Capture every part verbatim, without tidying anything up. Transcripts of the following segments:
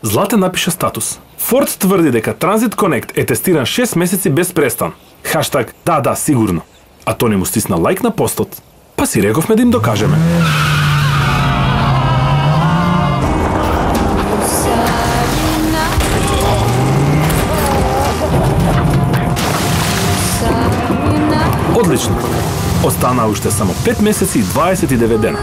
Златен напиша статус. Форд тврди дека Transit Connect е тестиран шест месеци без престан. Хаштаг да, да, сигурно. А Тони му стисна лайк на постот. Па си рековме да им докажеме. Одлично. Останаа уште само пет месеци и дваесет и девет дена.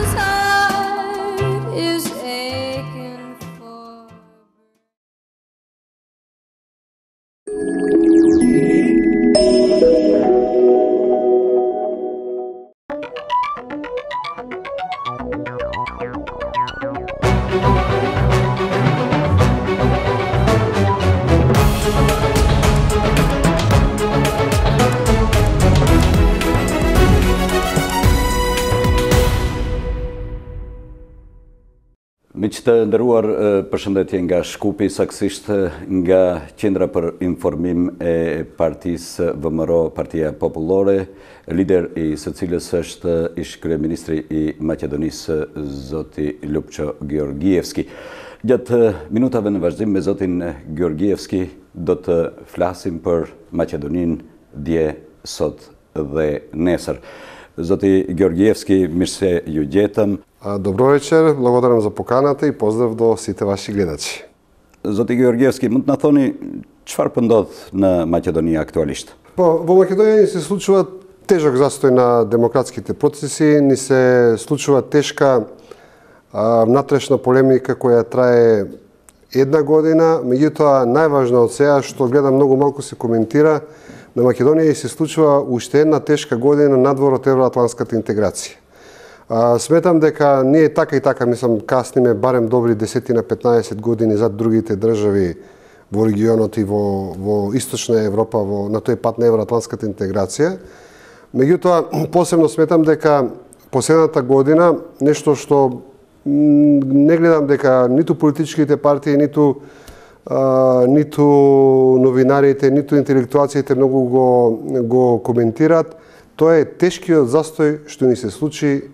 Miq të nderuar, përshëndetje nga Shkupi, saksisht nga Qendra për Informim e Partisë V M R O, Partia Popullore, lider i së cilës është ish kryeministri i Maqedonisë, zoti Lupço Georgievski. Gjatë minutave në vazhdim me zotin Georgievski do të flasim për Maqedoninë dje, sot dhe nesër. Zoti Georgievski, mirë se ju gjetëm. Добро вечер, благодарам за поканата и поздрав до сите ваши гледачи. Зоти Георгиевски, мund na thoni çfarë po ndodh në Maqedoni aktualisht? Po, во Македонија ни се случува тежок застој на демократските процеси, ни се случува тешка а, внатрешна полемика која трае една година, меѓутоа најважно од сега што гледам многу малку се коментира, на Македонија и се случува уште една тешка година надвор од евроатлантската интеграција. А, сметам дека ние така и така, мислам, касниме барем добри десет на петнаесет години зад другите држави во регионот и во, во Источна Европа, во, на тој пат на евроатлантската интеграција. Меѓутоа, посебно сметам дека последната година, нешто што не гледам дека ниту политичките партии, ниту, а, ниту новинарите, ниту интелектуалците многу го, го коментират, тоа е тешкиот застој што ни се случи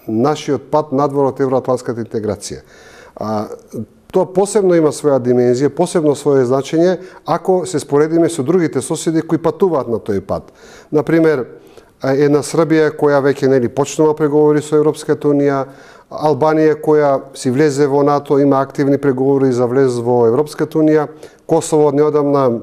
нашиот пат надвор од евроатлантската интеграција. А, тоа посебно има своја димензија, посебно своје значење, ако се споредиме со другите соседи кои патуваат на тој пат. Например, една Србија која веќе нели почнува преговори со Европската унија, Албанија која си влезе во НАТО, има активни преговори за влез во Европската унија, Косово неодамна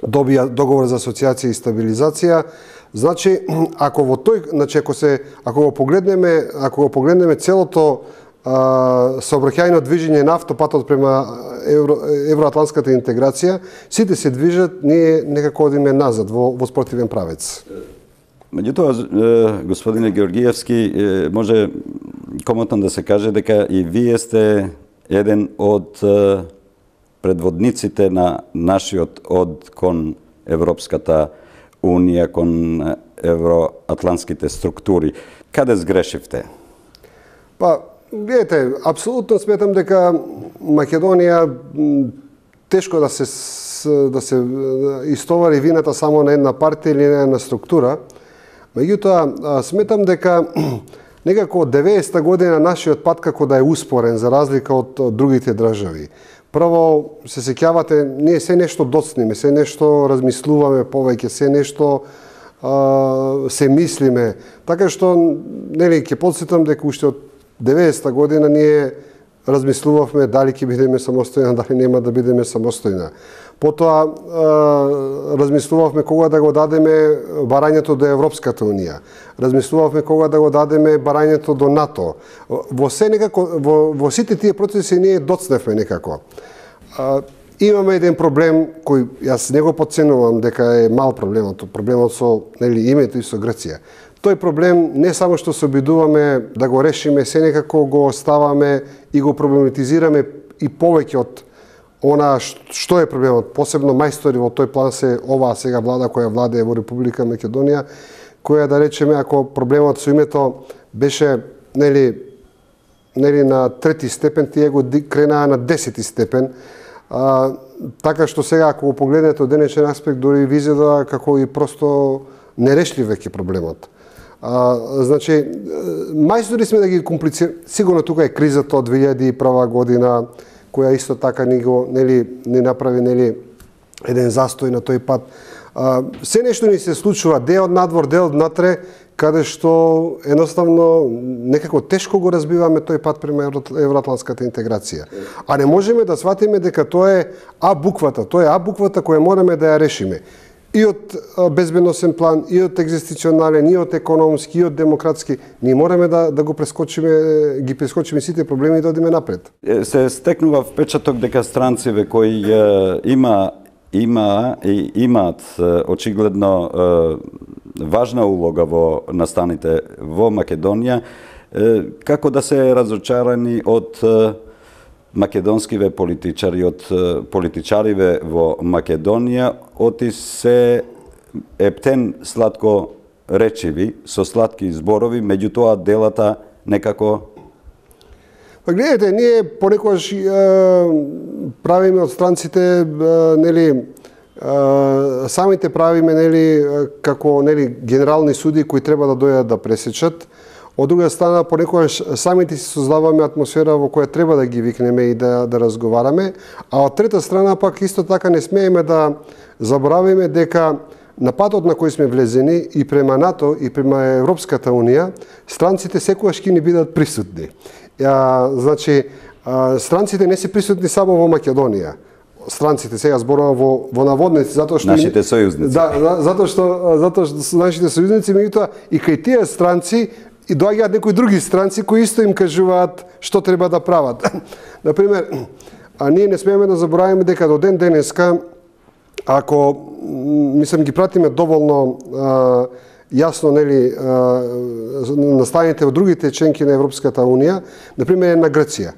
добија договор за асоциација и стабилизација. Значи, ако во тој, значи ако се ако го погледнеме, ако го погледнеме целото а, сообраќајно движење на автопатот према евро, евроатлантската интеграција, сите се движат, ние некако одиме назад во, во спротивен правец. Меѓутоа, господине Георгиевски, може комотно да се каже дека и вие сте еден од предводниците на нашиот од кон Европската Унија, кон евроатлантските структури. Каде сгрешивте? Па, видите, апсолутно сметам дека Македонија тешко да се да се истовари вината само на една партија или на една структура. Меѓутоа, сметам дека некако од деветдесета година нашиот пат како да е успорен за разлика од другите држави. Прво, се сеќавате, ние се нешто доцниме, се нешто размислуваме повеќе, се нешто а, се мислиме. Така што, нели, ќе подсетам дека уште од деветдесета година ние размислувавме дали ќе бидеме самостојна, дали нема да бидеме самостојна. Потоа а, размислувавме кога да го дадеме барањето до Европската унија. Размислувавме кога да го дадеме барањето до НАТО. Во се некако во, во сите тие процеси ние доцневме некако. А, имаме еден проблем кој јас не го подценувам дека е мал проблемот, проблемот со нели името и со Грција. Тој проблем не само што се обидуваме да го решиме, се некако го оставаме и го проблематизираме и повеќе од она што е проблемот. Посебно мајстори во тој план се оваа сега влада која владее во Република Македонија, која да речеме ако проблемот со името беше нели нели на трети степен, тие го кренаа на десети степен. А, така што сега ако го погледнете од денешен аспект дури ви изгледа како и просто нерешлив веќе проблемот. А, значи, мајстори сме да ги комплицираме. Сигурно тука е кризата од две илјади и прва година, која исто така ни го нели ни направи нели еден застој на тој пат. А, се нешто ни се случува дел од надвор, дел од натре, каде што едноставно некако тешко го разбиваме тој пат према евроатлантската интеграција. А не можеме да сватиме дека тоа е А буквата, тоа е А буквата која мораме да ја решиме. И од безбедносен план, и од екзистенционален, и од економски, и од демократски. Ние мораме да, да го прескочиме, ги прескочиме сите проблеми и да одиме напред. Се стекнува впечаток дека странциве кои е, има има и имаат очигледно важна улога во настаните во Македонија, како да се разочарани од македонскиве политичари, од политичариве во Македонија, оти се ептен сладко речиви, со сладки зборови, меѓутоа делата некако. Па гледате, ние понекогаш правиме од странците, нели, самите правиме, нели, како, нели, генерални суди кои треба да дојдат да пресечат. Од друга страна, понекогаш самите си создаваме атмосфера во која треба да ги викнеме и да, да разговараме, а од трета страна пак исто така не смееме да заборавиме дека на патот на кој сме влезени и према НАТО и према Европската Унија, странците секогаш ќе ни бидат присутни. А, значи, а, странците не се присутни само во Македонија. Странците, сега зборувам во, во наводници, затоа што... Нашите сојузници. Да, затоа што, затоа што нашите сојузници, меѓутоа и кај тие странци и доаѓаат некои други странци кои исто им кажуваат што треба да прават. Например, а ние не смееме да забораваме дека до ден денеска, ако, мислам, ги пратиме доволно а, јасно, нели, настаните во другите членки на Европската Унија, например на Грција.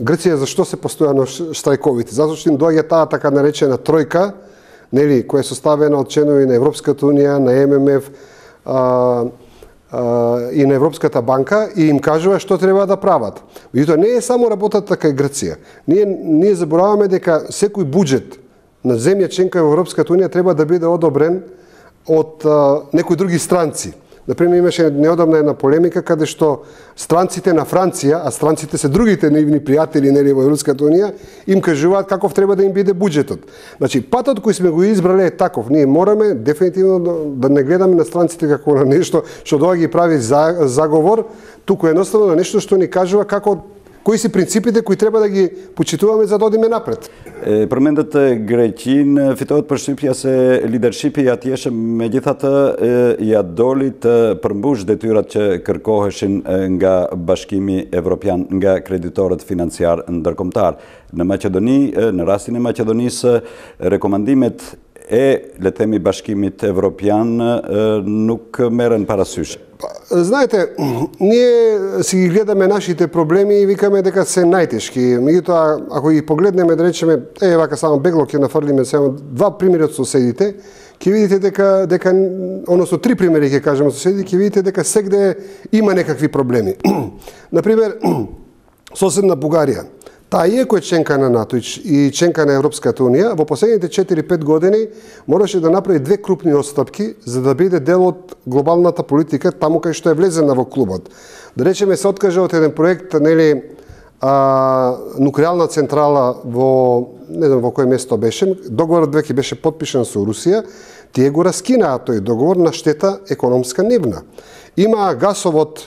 Грција зашто се постојано штрајковите? Затоа што им доаѓа таа така наречена тројка, нели, која е составена од членови на Европската Унија, на Ем Ем Еф а, а, и на Европската банка и им кажува што треба да прават. Меѓутоа не е само работата кај Грција. Ние ние забораваме дека секој буџет на земја членка во Европската Унија треба да биде одобрен од а, некои други странци. Например, имаше неодамна една полемика каде што странците на Франција, а странците се другите нивни пријатели нели во Европската Унија, им кажуваат каков треба да им биде буџетот. Значи, патот кој сме го избрале е таков. Ние мораме дефинитивно да, да не гледаме на странците како на нешто што доаѓа ги прави за, заговор, туку едноставно на нешто што ни кажува како кои се принципите кои треба да ги почитуваме за да одиме напред. Përmendet Greqin, fitohet përshtypja se lidership-i atjeshe megjithatë ja doli të përmbush detyrat që kërkoheshin nga Bashkimi Evropian, nga kreditorët financiar ndërkombëtar. Në Maqedoni, në rastin e Maqedonisë, rekomandimet e, le themi, Bashkimit Evropian nuk merren parasysh. Знаете, ние си ги гледаме нашите проблеми и викаме дека се најтешки. Меѓутоа, ако ги погледнеме, да речеме, е, вака само бегло ќе нафрлиме само два примери од соседите, ќе видите дека, дека односно три примери ќе кажеме од соседите, ќе видите дека сегде има некакви проблеми. Например, соседна Бугарија. Таа иако е членка на НАТО и членка на Европската Унија, во последните четири-пет години мораше да направи две крупни отстапки за да биде дел од глобалната политика таму кај што е влезена во клубот. Да речеме се откажа од еден проект, нели, а, нуклеарна централа во, не знам во кој место беше, договорот веќе беше потпишан со Русија, тие го раскинаа тој договор на штета економска нивна. Има гасовод,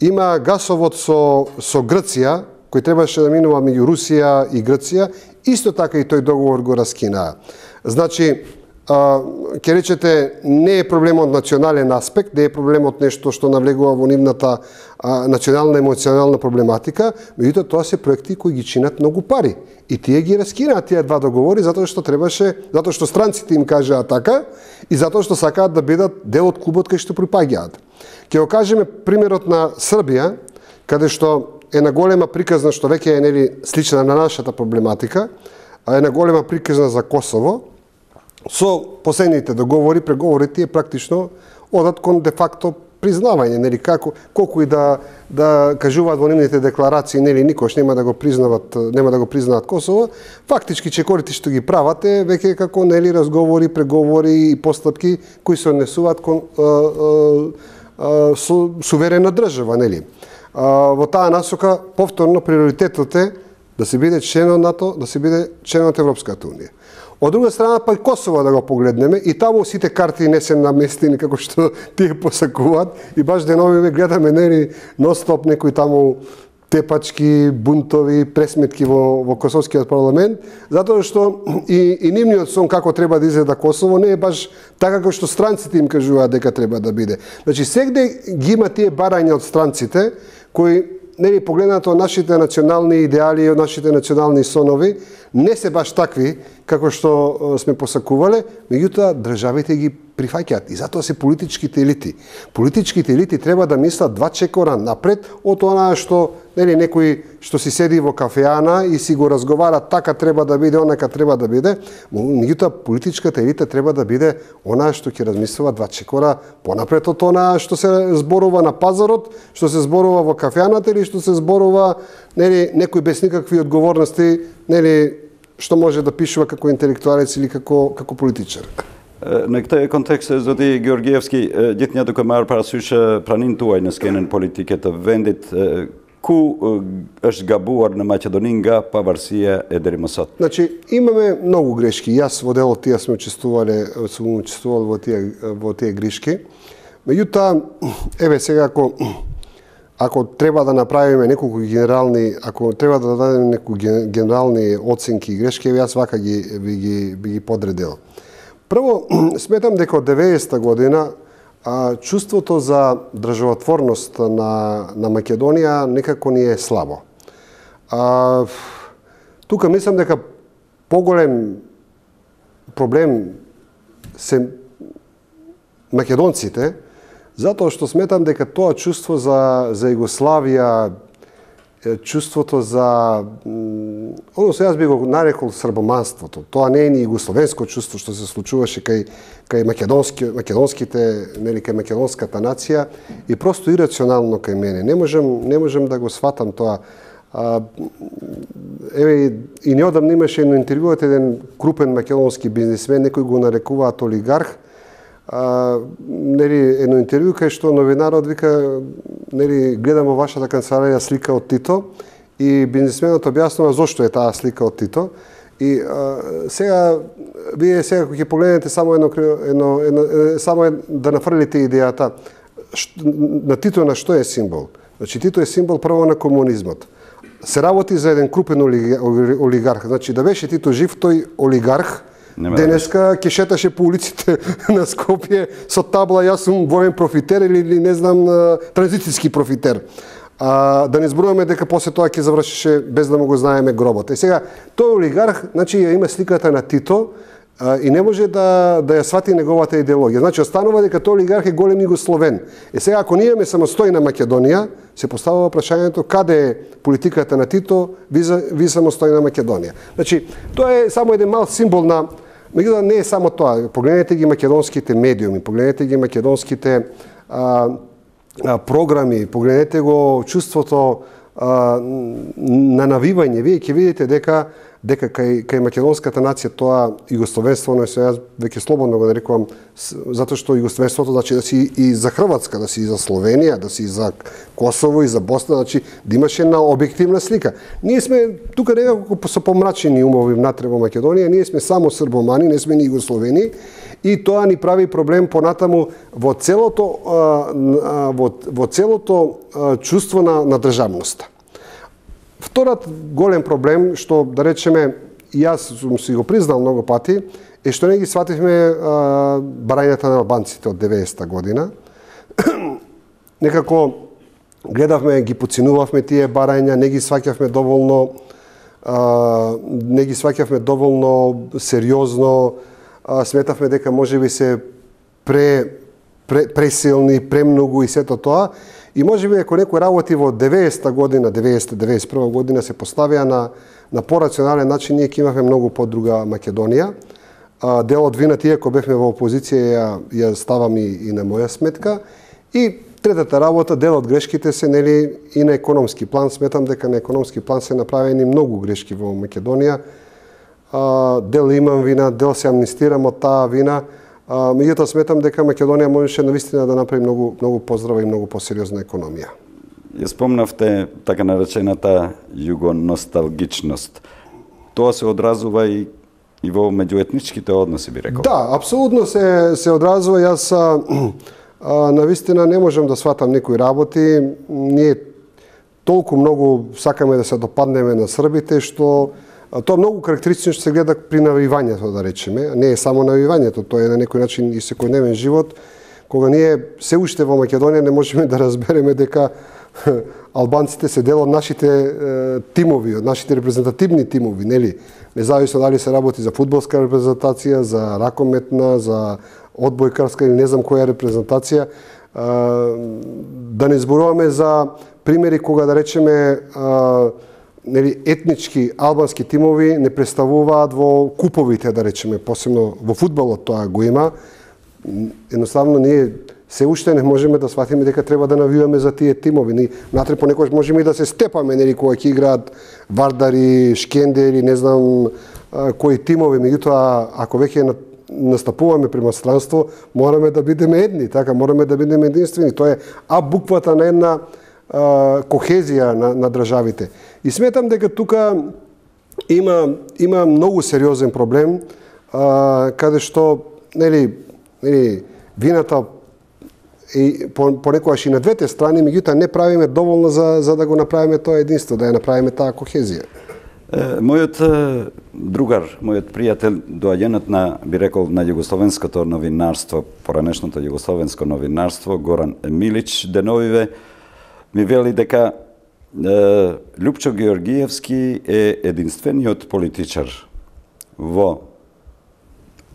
има гасовод со со Грција, кој требаше да минува меѓу Русија и Грција, исто така и тој договор го раскинаа. Значи, ќе речете, не е проблем од национален аспект, не е проблем од нешто што навлегува во нивната а, национална емоционална проблематика, меѓутоа тоа се проекти кои ги чинат многу пари. И тие ги раскинаат тие два договори затоа што требаше, затоа што странците им кажаа така и затоа што сакаат да бидат дел од клубот кај што припаѓаат. Ќе го кажеме примерот на Србија, каде што една голема приказна што веќе е нели слична на нашата проблематика, а една голема приказна за Косово. Со последните договори, преговори тие практично одат кон де факто признавање, нели како колку и да да кажуваат во нивните декларации, нели никош нема да го признават, нема да го признаат Косово, фактички чекорите што ги прават е веќе како нели разговори, преговори и постапки кои се однесуваат кон а, а, а, со суверена држава, нели. Во таа насока, повторно, приоритетот е да се биде член од НАТО, да се биде член од Европската унија. Од друга страна, па и Косово да го погледнеме, и таму сите карти не се наместени како што тие посакуваат, и баш деновиве гледаме нели ностоп некои таму тепачки, бунтови, пресметки во, во Косовскиот парламент, затоа што и, и нивниот сон како треба да изгледа Косово не е баш така како што странците им кажуваат дека треба да биде. Значи, сегде ги има тие барања од странците, кои нели погледнато од нашите национални идеали и од нашите национални сонови, не се баш такви како што сме посакувале, меѓутоа државите ги прифаќаат и затоа се политичките елити. Политичките елити треба да мислат два чекора напред од онаа што нели некој што си седи во кафеана и си го разговара така треба да биде, онака треба да биде, меѓутоа политичката елита треба да биде онаа што ќе размислува два чекора понапред од онаа што се зборува на пазарот, што се зборува во кафеаната или што се зборува нели некој без никакви одговорности, нели што може да пишува како интелектуалец или како како политичар. Në këtë kontekst, zoti Georgievski, gjithnjë duke marrë parasysh praninë tuaj në skenën politike të vendit, ku është gabuar në Maqedoni nga pavarësia e deri më sot? Значи, имаме многу грешки. Јас во дел од тие сме учествувале, сум учествувал во тие во тие грешки. Меѓутоа, еве сега ако ако треба да направиме неколку генерални, ако треба да дадеме неколку генерални оценки и грешки, јас вака ги би ги би ги подредил. Прво, сметам дека од деветдесета година а, чувството за државотворност на, на Македонија некако ни е слабо. А, тука мислам дека поголем проблем се македонците, затоа што сметам дека тоа чувство за, за Југославија, чувството за, односно јас би го нарекол србоманството. Тоа не е ни југословенско чувство што се случуваше кај кај македонски македонските, нели кај македонската нација и просто ирационално кај мене. Не можам не можам да го сватам тоа. А, еве и неодамна имаше едно интервју од еден крупен македонски бизнисмен, некој го нарекуваат олигарх. А, нели едно интервју кај што новинарот вика, нели гледам во вашата канцеларија слика од Тито и бизнисменот објаснува зошто е таа слика од Тито. И а, сега вие сега кога ќе погледнете само едно едно, едно само да нафрлите идејата на Тито на што е символ. Значи Тито е символ прво на комунизмот. Се работи за еден крупен олигарх. Значи да беше Тито жив, тој олигарх денеска ќе шеташе по улиците на Скопје со табла јас сум воен профитер или не знам транзитиски профитер. А, да не зборуваме дека после тоа ќе завршише без да му го знаеме гробот. И сега тој олигарх, значи ја има сликата на Тито а, и не може да да ја свати неговата идеологија. Значи останува дека тој олигарх е голем југословен. И сега ако ние имаме самостојна Македонија, се поставува прашањето каде е политиката на Тито виза ви самостојна Македонија. Значи тоа е само еден мал символ на, меѓутоа не е само тоа. Погледнете ги македонските медиуми, погледнете ги македонските а, а, програми, погледнете го чувството а, на навивање. Вие ќе видите дека дека кај кај македонската нација тоа југословенство, но јас веќе слободно го нарекувам, затоа што југословенството значи да си и за Хрватска, да си и за Словенија, да си и за Косово и за Босна, значи да имаше една објективна слика. Ние сме тука некако со помрачени умови внатре во Македонија, ние сме само србомани, не сме ни југословени и тоа ни прави проблем понатаму во целото во, во целото чувство на, на државноста. Вториот голем проблем, што да речеме, јас сум си го признал многу пати, е што не ги свативме а, барањата на албанците од деветдесета година. Некако гледавме, ги поценувавме тие барања, не ги сваќавме доволно, а, не ги сваќавме доволно сериозно, а, сметавме дека можеби се пре, пре, пресилни, премногу и сето тоа. И можеби ако некој работи во деветдесета година, деветдесета деветдесет и прва година се поставија на на порационален начин, ние ќе имавме многу подруга Македонија. А, дел од вината, иако бевме во опозиција, ја, ја ставам и, и на моја сметка. И третата работа, дел од грешките се нели и на економски план. Сметам дека на економски план се направени многу грешки во Македонија. А, дел имам вина, дел се амнистирам од таа вина. Меѓутоа сметам дека Македонија можеше навистина да направи многу многу поздрава и многу посериозна економија. ја спомнавте така наречената југоносталгичност. Тоа се одразува и и во меѓуетничките односи, би рекол. Да, апсолутно се се одразува. Јас а, а, навистина не можам да сватам некои работи. Ние толку многу сакаме да се допаднеме на србите, што тоа многу карактеристично што се гледа при навивањето, да речеме. Не е само навивањето, тоа е на некој начин и секојдневен живот, кога ние се уште во Македонија не можеме да разбереме дека албанците се дел од нашите е, тимови, од нашите репрезентативни тимови, нели? Независно дали се работи за фудбалска репрезентација, за ракометна, за одбојкарска или не знам која репрезентација. Да не зборуваме за примери кога, да речеме, нели, етнички албански тимови не представуваат во куповите, да речеме, посебно во фудбалот тоа го има. Едноставно ние се уште не можеме да сватиме дека треба да навиваме за тие тимови. Ни натре понекогаш можеме и да се степаме, нели, кога ќе играат Вардари, Шкендери, не знам кои тимови, меѓутоа ако веќе настапуваме према странство, мораме да бидеме едни, така мораме да бидеме единствени. Тоа е а буквата на една а, кохезија на, на државите. И сметам дека тука има има многу сериозен проблем, а, каде што нели нели вината и понекогаш и на двете страни, меѓутоа не правиме доволно за за да го направиме тоа единство, да ја направиме таа кохезија. Мојот другар, мојот пријател, доаѓенот на, би рекол, на југословенското новинарство, поранешното југословенско новинарство, Горан Милич, деновиве, ми вели дека е, Љупчо Георгиевски е единствениот политичар во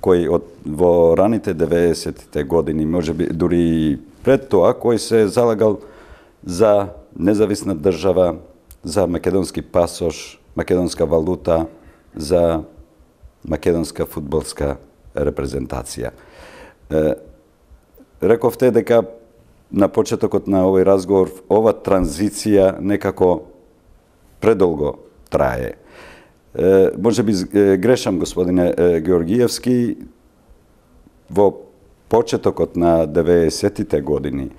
кој од, во раните деветдесетите години, може би дури пред тоа, кој се залагал за независна држава, за македонски пасош, македонска валута, за македонска фудбалска репрезентација. Е, рековте дека на почетокот на овој разговор ова транзиција некако предолго трае. Е, може би грешам, господине Георгиевски, во почетокот на деветдесетите години,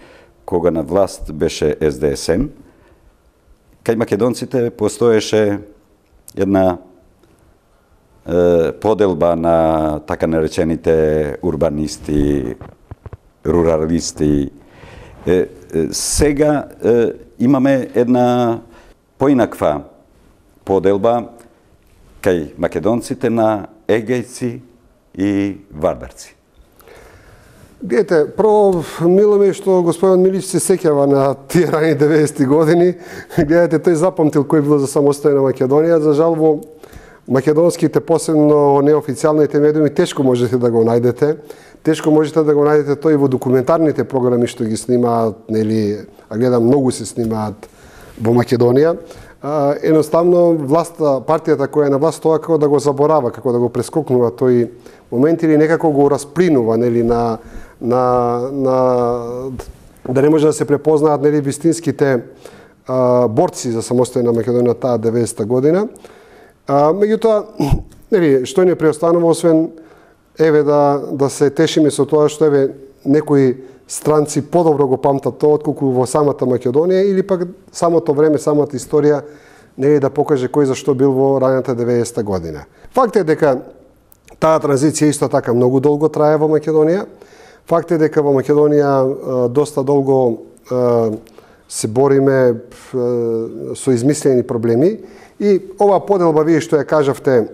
кога на власт беше Ес Де Ес Ем, кај македонците постоеше една е, поделба на така наречените урбанисти, руралисти. Е, е, сега е, имаме една поинаква поделба кај македонците на егејци и вардарци. Гледате, прво, мило ми е што господин Милич се сеќава на тие рани деветдесети години. Гледате, тој запамтил кој било за самостојна Македонија. За жал, во македонските, посебно неофицијалните медиуми, тешко можете да го најдете. Тешко можете да го најдете тој во документарните програми што ги снимаат, нели, а гледам, многу се снимаат во Македонија. А, едноставно, власта, партијата која е на власт, тоа како да го заборава, како да го прескокнува тој момент или некако го расплинува, нели, на на на да не може да се препознаат, нели, вистинските а, борци за самостојна Македонија таа деветдесета година. А, меѓутоа, нели, што не преостанува освен еве да да се тешиме со тоа што еве некои странци подобро го памтат тоа отколку во самата Македонија или пак самото време, самата историја нели да покаже кој зашто бил во раната деветдесета година. Факт е дека таа транзиција исто така многу долго трае во Македонија. Факт е дека во Македонија доста долго се бориме со измислени проблеми и оваа поделба, вие што ја кажавте,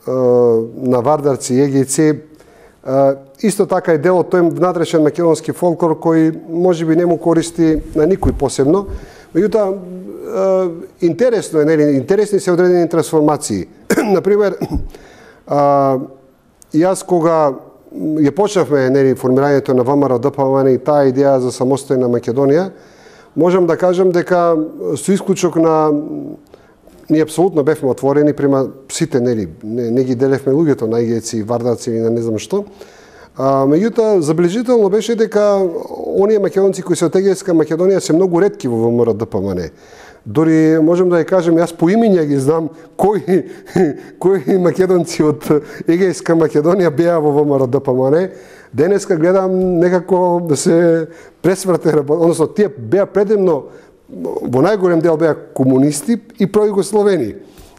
на вардарци и егејци, исто така е дел од тој внатрешен македонски фолклор кој можеби не му користи на никој посебно. Меѓутоа, интересно е, нели, интересни се одредени трансформации. Например, јас кога ја почнавме, нели, формирањето на Вэ Ем Ар Д П М Н и таа идеја за самостојна Македонија, можам да кажам дека со исклучок на ние апсолутно бевме отворени према сите, нели, не, не ги делевме луѓето на егејци, вардарци или на не знам што. А, меѓутоа, забележително беше дека оние македонци кои се од Егејска Македонија се многу ретки во ВМРО-ДПМН. Дори можем да ја кажем, јас по имиња ги знам кои, кои македонци од Егејска Македонија беа во ВМРО-ДПМН. Денеска гледам некако да се пресврте, односно тие беа предемно, во најголем дел беа комунисти и пројугословени.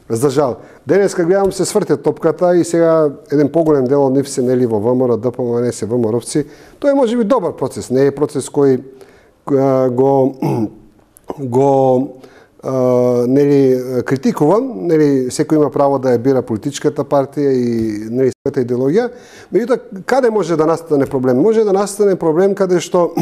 За жал. Денеска гледам се сврте топката и сега еден поголем дел од нив се нели во ВМРО-ДПМН, се ВМРО-вци. Тоа е можеби добар процес, не е процес кој го го Uh, нели критикувам, нели секој има право да ја бира политичката партија и нели својата идеологија. Меѓутоа, каде може да настане проблем? Може да настане проблем каде што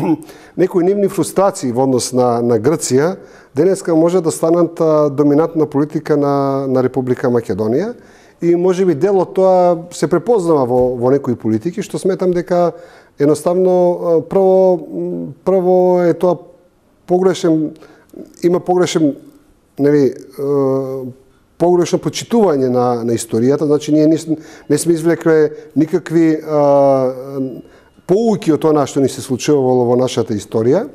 некои нивни фрустрации во однос на на Грција денеска може да станат а, доминантна политика на на Република Македонија и можеби дел од тоа се препознава во во некои политики, што сметам дека едноставно прво прво е тоа погрешен, има погрешен, нели, погрешно почитување на, на историјата, значи ние не, не сме извлекле никакви а, поуки од тоа што ни се случувало во нашата историја.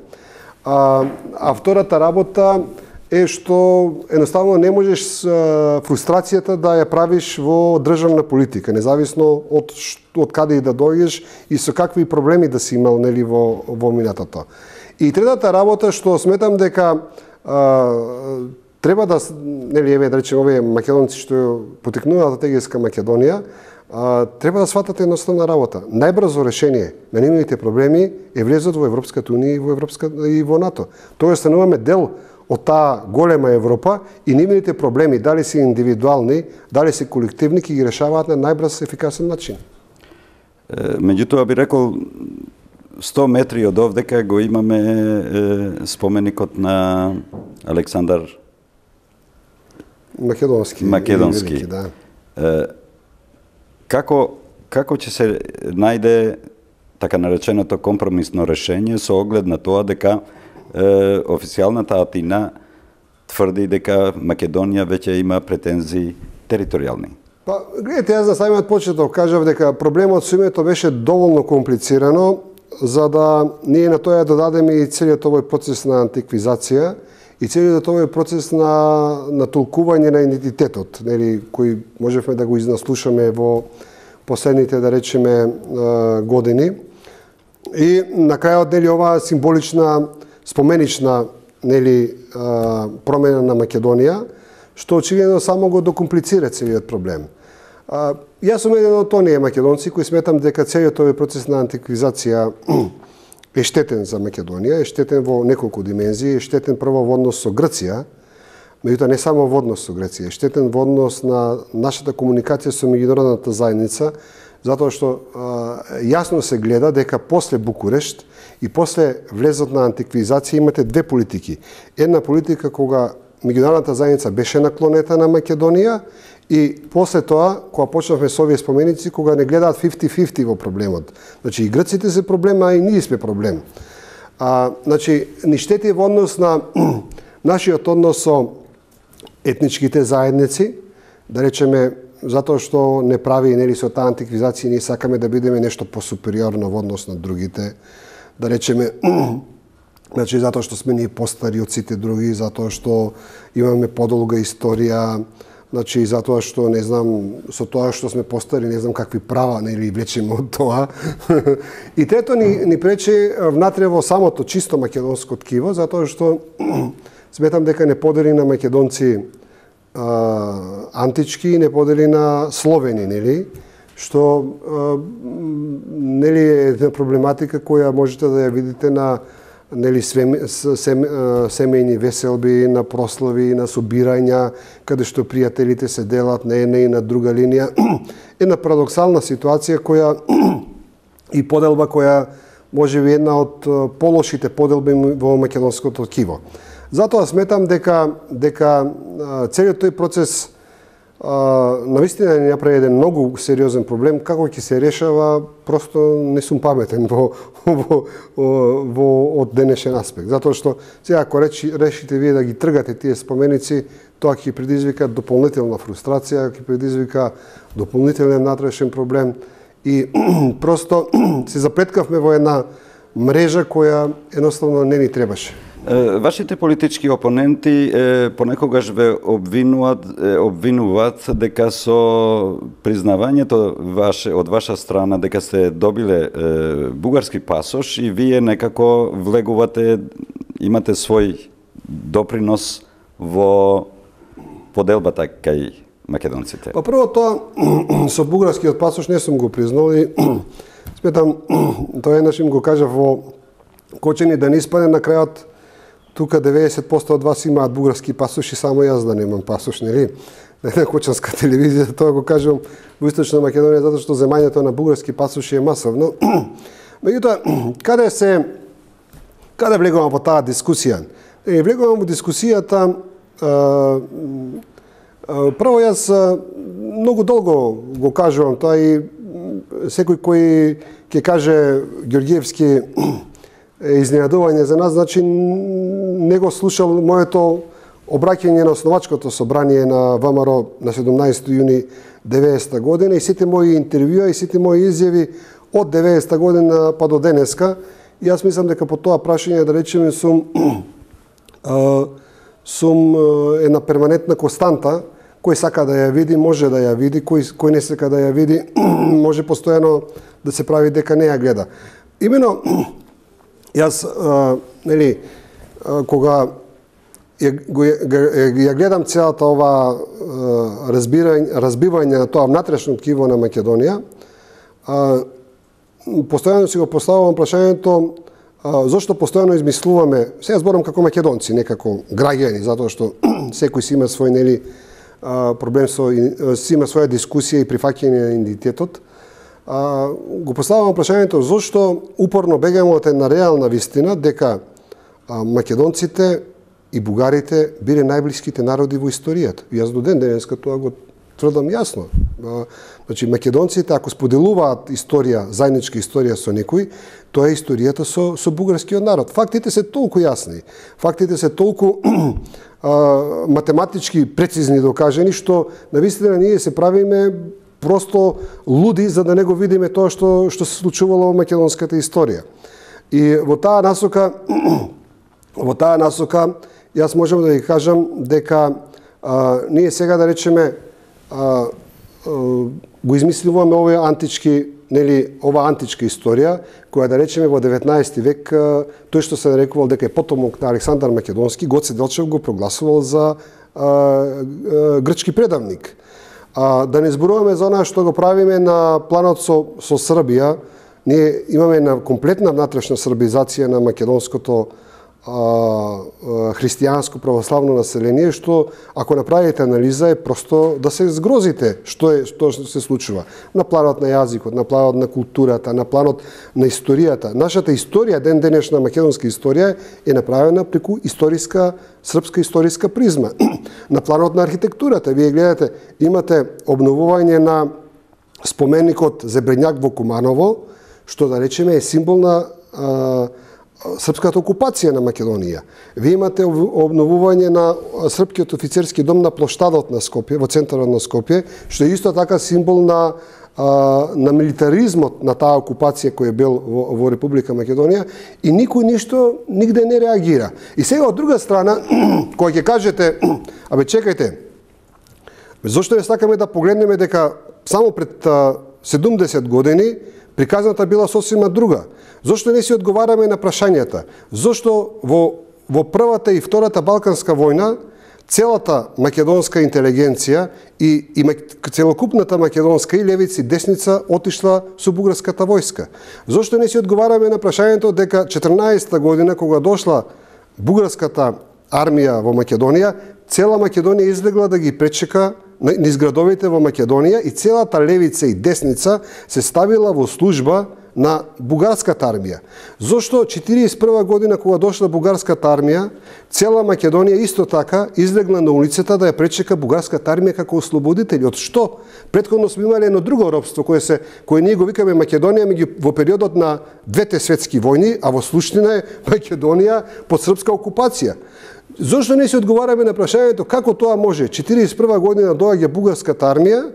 А, а втората работа е што едноставно не можеш а, фрустрацијата да ја правиш во државна политика, независно од, од каде и да дојдеш и со какви проблеми да си имал, нели, во, во минатото. И третата работа што сметам дека а, треба да, нели, еве да речем овие македонци што потекнуваат од Егејска Македонија, а, треба да сватат едноставна работа. Најбрзо решение на нивните проблеми е влезот во Европската унија и во Европска и во НАТО. Тоа стануваме дел од таа голема Европа и нивните проблеми, дали се индивидуални, дали се колективни, ќе ги решаваат на најбрз ефикасен начин. Меѓутоа би рекол сто метри од овдека го имаме е, споменикот на Александар Македонски. Македонски. Велики, да. Е, како како ќе се најде така нареченото компромисно решение со оглед на тоа дека е, официјалната Атина тврди дека Македонија веќе има претензии територијални? Па, гледайте, јас на самиот почеток кажав дека проблемот со името беше доволно комплицирано, за да ние на тоа додадеме и целиот овој процес на антиквизација и целиот овој процес на, на толкување на идентитетот, нели, кој можевме да го изнаслушаме во последните, да речеме, години. И на крајот, нели, оваа символична, споменична, нели, промена на Македонија, што очигледно само го докомплицира целиот проблем. А, јас сум еден од оние македонци кои сметам дека целиот овој процес на антиквизација е штетен за Македонија, е штетен во неколку димензии, е штетен прво во однос со Грција, меѓутоа не само во однос со Грција, е штетен во однос на нашата комуникација со меѓународната заедница, затоа што а, јасно се гледа дека после Букурешт и после влезот на антиквизација имате две политики. Една политика кога меѓународната заедница беше наклонета на Македонија и после тоа, кога почнавме со овие споменици, кога не гледаат фифти фифти во проблемот. Значи и грците се проблем, а и ние сме проблем. А, значи, ни штети во однос на нашиот однос со етничките заедници, да речеме, затоа што не прави, нели, со таа антиквизација, ние сакаме да бидеме нешто посупериорно во однос на другите, да речеме, значи, затоа што сме ние постари од сите други, затоа што имаме подолга историја, значи, затоа што, не знам, со тоа што сме постари, не знам какви права, нели, влечеме од тоа. И трето, ни, ни пречи внатре во самото чисто македонско ткиво, затоа што сметам дека не подели на македонци а, антички, не подели на словени, нели, што а, нели е една проблематика која можете да ја видите на, нели, сем, сем, семејни веселби, на прослави, на собирања, каде што пријателите се делат на една и на друга линија. Една парадоксална ситуација која и поделба која можеби една од полошите поделби во македонското ткиво. Затоа сметам дека дека целиот тој процес навистина ни направи еден многу сериозен проблем. Како ќе се решава, просто не сум паметен во, во, во од денешен аспект. Затоа што сега ако речи, решите вие да ги тргате тие споменици, тоа ќе предизвика дополнителна фрустрација, ќе предизвика дополнителен натрешен проблем и просто се заплеткавме во една мрежа која едноставно не ни требаше. Вашите политички опоненти е, понекогаш ве обвинуваат, е, обвинуваат дека со признавањето ваше, од ваша страна дека сте добиле е, бугарски пасош и вие некако влегувате, имате свој допринос во поделбата кај македонците. Па прво тоа со бугарскиот пасош не сум го признал и сметам тоа еднаш им го кажав во Кочени да не испадне на крајот тука деветдесет проценти од вас имаат бугарски пасош и само јас да немам пасош, нели? На една кочанска телевизија, тоа го кажувам во Источна Македонија, затоа што земањето на бугарски пасош е масовно. Меѓутоа, каде се, каде влегувам во таа дискусија? Е, влегувам во дискусијата, а, а, прво јас многу долго го кажувам тоа и секој кој ќе каже Ѓорѓиевски изненадување за нас, значи не го слушал моето обраќање на основачкото собрание на ВМРО на седумнаесети јуни деветдесета година и сите мои интервјуа и сите мои изјави од деветдесета година па до денеска. И јас мислам дека по тоа прашање, да речеме, сум а, сум една перманентна константа. Кој сака да ја види, може да ја види, кој, кој не сака да ја види, може постојано да се прави дека не ја гледа. Имено, јас, а, нели, а, кога ја, го, ја, ја гледам целата ова разбирање, разбивање на тоа внатрешно ткиво на Македонија, а, постојано си го поставувам прашањето а, зошто постојано измислуваме, сега зборам како македонци, не како граѓани, затоа што секој си има свој, нели, проблем со, си има своја дискусија и прифаќање на идентитетот. А, го поставувам прашањето зошто упорно бегаме од една реална вистина дека а, македонците и бугарите биле најблиските народи во историјата. И јас до ден денеска тоа го тврдам јасно. А, значи македонците ако споделуваат историја, заедничка историја со некој, тоа е историјата со со бугарскиот народ. Фактите се толку јасни. Фактите се толку а, математички прецизни докажани што навистина ние се правиме просто луди за да не го видиме тоа што што се случувало во македонската историја. И во таа насока во таа насока јас можам да ви кажам дека а, ние сега да речеме а, а, го измисливаме овој антички, нели, ова античка историја која да речеме во деветнаесети век а, тој што се нарекувал дека е потомок на Александар Македонски, Гоце Делчев го прогласувал за а, а, грчки предавник. А, да не зборуваме за она што го правиме на планот со, со Србија. Ние имаме една комплетна внатрешна србизација на македонското а, а, христијанско православно население, што ако направите анализа е просто да се згрозите што е што се случува на планот на јазикот, на планот на културата, на планот на историјата. Нашата историја, ден денешна македонска историја е направена преку историска српска историска призма. На планот на архитектурата, вие гледате, имате обновување на споменикот Зебренјак во Куманово, што да речеме е символ на а, српската окупација на Македонија. Вие имате обновување на српскиот офицерски дом на плоштадот на Скопје, во центарот на Скопје, што е исто така символ на на милитаризмот на таа окупација која бил во, во Република Македонија и никој ништо нигде не реагира. И сега од друга страна, кога ќе кажете, абе чекајте, зошто не сакаме да погледнеме дека само пред седумдесет години приказната била сосема друга? Зошто не си одговараме на прашањата? Зошто во во првата и втората Балканска војна целата македонска интелигенција и, и целокупната македонска и левица и десница отишла со бугарската војска? Зошто не си одговараме на прашањето дека четрнаесетта година кога дошла бугарската армија во Македонија, цела Македонија излегла да ги пречека низ градовите во Македонија и целата левица и десница се ставила во служба на бугарската армија. Зошто четириесет и прва година кога дошла бугарската армија, цела Македонија исто така излегла на улицата да ја пречека бугарската армија како ослободители? Од што? Претходно сме имале едно друго робство кое се кое ние го викаме Македонија меѓу во периодот на двете светски војни, а во суштина е Македонија под српска окупација. Зошто не се одговараме на прашањето како тоа може? четириесет и прва година доаѓа бугарската армија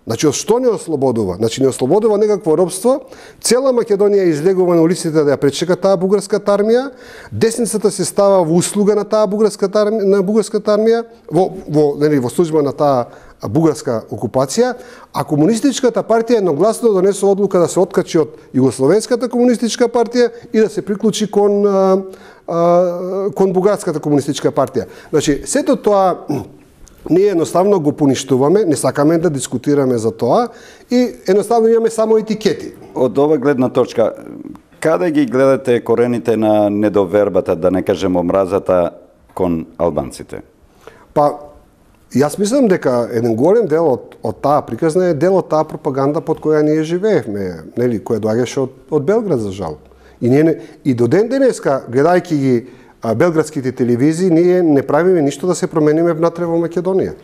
Значи, од што не ослободува? Значи, не ослободува некакво робство. Цела Македонија излегува на улиците да ја пречека таа бугарската армија. Десницата се става во услуга на таа бугарската армија, на бугарската армија, во во нели во служба на таа бугарска окупација, а комунистичката партија едногласно донесува одлука да се откачи од Југословенската комунистичка партија и да се приклучи кон а, а, кон бугарската комунистичка партија. Значи, сето тоа ние едноставно го поништуваме, не сакаме да дискутираме за тоа и едноставно имаме само етикети. Од ова гледна точка, каде ги гледате корените на недовербата, да не кажем омразата кон албанците? Па, јас мислам дека еден голем дел од, од таа приказна е дел од таа пропаганда под која ние живеевме, нели, која доаѓаше од, од Белград, за жал. И, ние, и до ден денеска, гледајќи ги белградските телевизии, ние не правиме ништо да се промениме внатре во Македонија.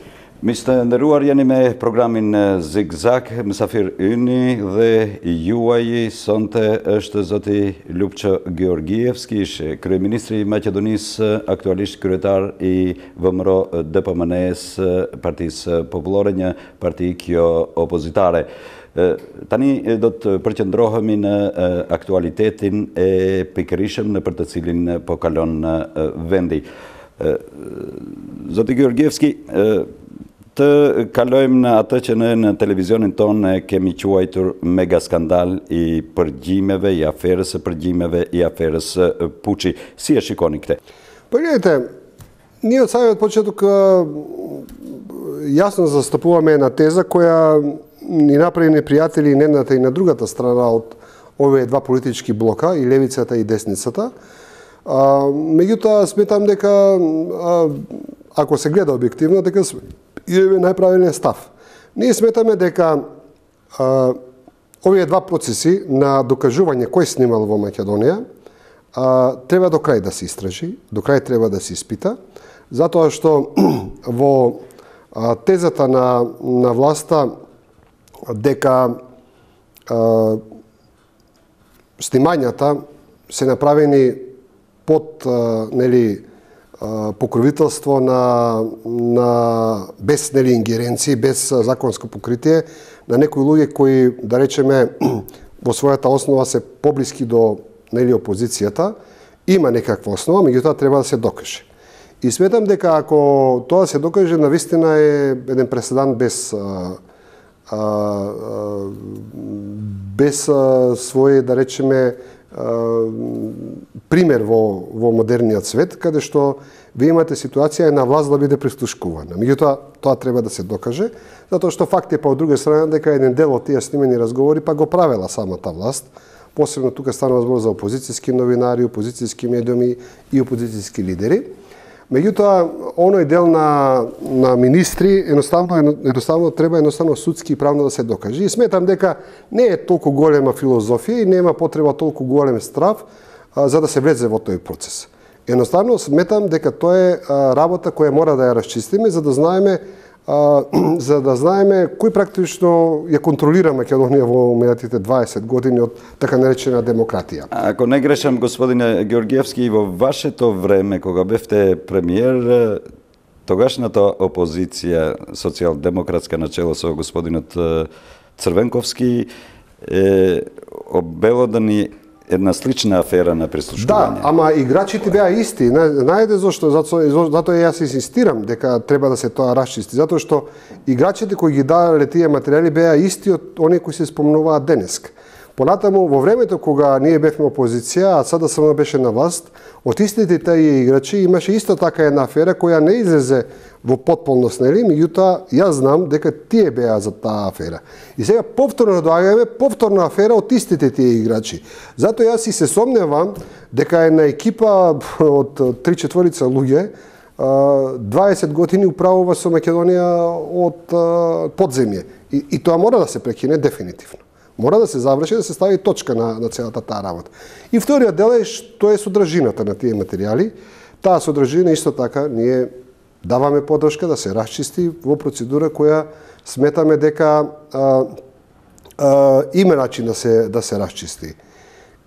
Мисте ndëruar, jeni me programin Zigzag, mysafir yni dhe juaji sonte është zoti Lupço Georgievski, kryeministri i Maqedonisë, aktualisht kryetar i V M R O D P M N-s, Partisë Popullore, një parti kjo opozitare. Tani do të përqendrohemi në aktualitetin e pikërisëm në për të cilin po kalon vendi. Zoti Georgievski, të kalojmë në atë që në, në televizionin tonë kemi quajtur mega skandal i përgjimeve, i aferës së përgjimeve, i aferës Puçi. Si e shikoni këtë? Па гледайте, ние од самиот почеток јасно застапуваме една теза која ни направи непријатели и на едната и на другата страна од овие два политички блока, и левицата и десницата. А, меѓутоа, сметам дека, а, ако се гледа објективно, дека имаме најправилниот став. Ние сметаме дека а, овие два процеси на докажување кој снимал во Македонија а, треба до крај да се истражи, до крај треба да се испита, затоа што во а, тезата на, на власта дека а, снимањата се направени под а, нели а, покровителство на на без нели ингеренции, без законско покритие на некои луѓе кои, да речеме, во својата основа се поблиски до нели опозицијата, има некаква основа, меѓутоа треба да се докаже. И сметам дека ако тоа се докаже, навистина е еден преседан без а, а, а, без а, свој, да речеме, а, пример во во модерниот свет, каде што ви имате ситуација на власт да биде прислушкувана. Меѓутоа, тоа треба да се докаже, затоа што факт е, па од друга страна, дека еден дел од тие снимени разговори па го правела самата власт. Посебно тука станува збор за опозицијски новинари, опозицијски медиуми и опозицијски лидери. Меѓутоа, оној дел на, на министри едноставно, едноставно треба едноставно судски и правно да се докаже. И сметам дека не е толку голема филозофија и нема потреба толку голем страв а, за да се влезе во тој процес. Едноставно сметам дека тоа е а, работа која мора да ја расчистиме за да знаеме а, за да знаеме кој практично ја контролира Македонија во минатите дваесет години од така наречена демократија. Ако не грешам, господине Георгиевски, во вашето време, кога бевте премиер, тогашната опозиција социјалдемократска начело со господинот Црвенковски е обелодани една слична афера на прислушкување. Да, ама играчите беа исти. Знаете зошто? Затоа, затоа јас инсистирам дека треба да се тоа расчисти. Затоа што играчите кои ги дадале тие материјали беа исти од оние кои се спомнуваат денеска. Понатаму, во времето кога ние бевме опозиција, а СДСМ беше на власт, од истите тие играчи имаше исто така една афера која не излезе во потполност, нели? Меѓутоа, јас знам дека тие беа за таа афера. И сега повторно доаѓаме повторна афера од истите тие играчи. Затоа јас и се сомневам дека една екипа од три-четворица луѓе дваесет години управува со Македонија од подземје. И, и тоа мора да се прекине дефинитивно. Мора да се заврши, да се стави точка на, на целата таа работа. И вториот дел е што е содржината на тие материјали. Таа содржина исто така ние даваме подршка да се расчисти во процедура која сметаме дека а, а, има начин да се да се расчисти.